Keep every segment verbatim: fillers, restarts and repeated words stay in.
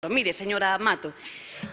Mire, señora Mato,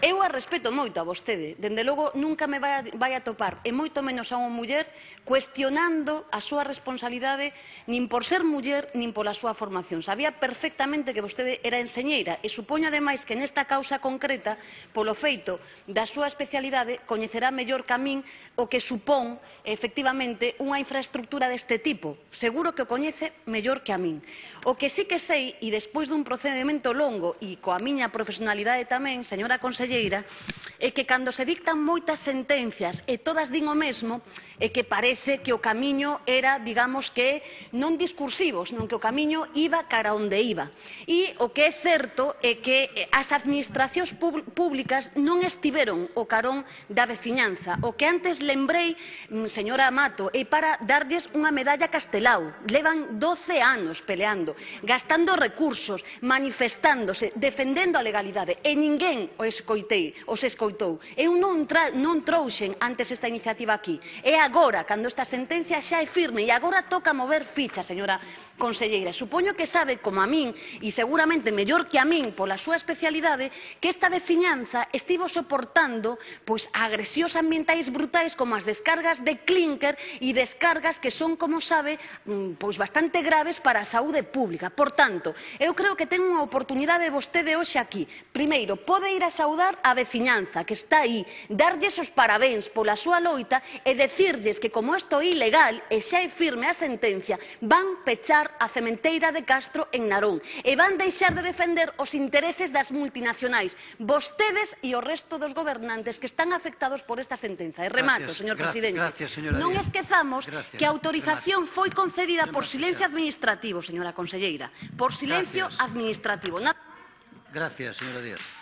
eu a respeto moito a vostede, dende logo nunca me vai a, vai a topar, e moito menos a unha muller, cuestionando a súa responsabilidade nin por ser muller, nin pola súa formación. Sabía perfectamente que vostede era enseñeira e supoño ademais que nesta causa concreta, polo feito da súa especialidade, coñecerá mellor que a min o que supón, efectivamente, unha infraestructura deste tipo. Seguro que o coñece mellor que a min. O que sí que sei, e despois dun procedimento longo e coa miña profesionalidade tamén, señora conselleira, é que cando se dictan moitas sentencias e todas din o mesmo, é que parece que o camiño era, digamos que, non discursivo, senón que o camiño iba cara onde iba. E o que é certo é que as administracións públicas non estiveron o carón da veciñanza. O que antes lembrei, señora Mato, é para darlles unha medalla a Castelao. Levan doce anos peleando, gastando recursos, manifestándose, defendendo a legalidade, e ninguén o escoitei, os escoitou. Eu non, tra, non trouxen antes esta iniciativa aquí. É agora, cando esta sentencia xa é firme, e agora toca mover ficha, señora conselleira. Supoño que sabe, como a min, e seguramente mellor que a min, pola súa especialidade, que esta veciñanza estivo soportando pois, agresións ambientais brutais como as descargas de clínker e descargas que son, como sabe, pois, bastante graves para a saúde pública. Por tanto, eu creo que ten unha oportunidade vostede hoxe aquí. Primeiro, pode ir a saudar a veciñanza que está aí, darlles os parabéns pola súa loita e decirlles que como isto é ilegal e xa é firme a sentencia, van pechar a cementeira de Castro en Narón e van deixar de defender os intereses das multinacionais, vostedes e o resto dos gobernantes que están afectados por esta sentenza. E remato, señor presidente. Non esquezamos que a autorización foi concedida por silencio administrativo, señora conselleira, por silencio administrativo. Gracias, señora Díaz.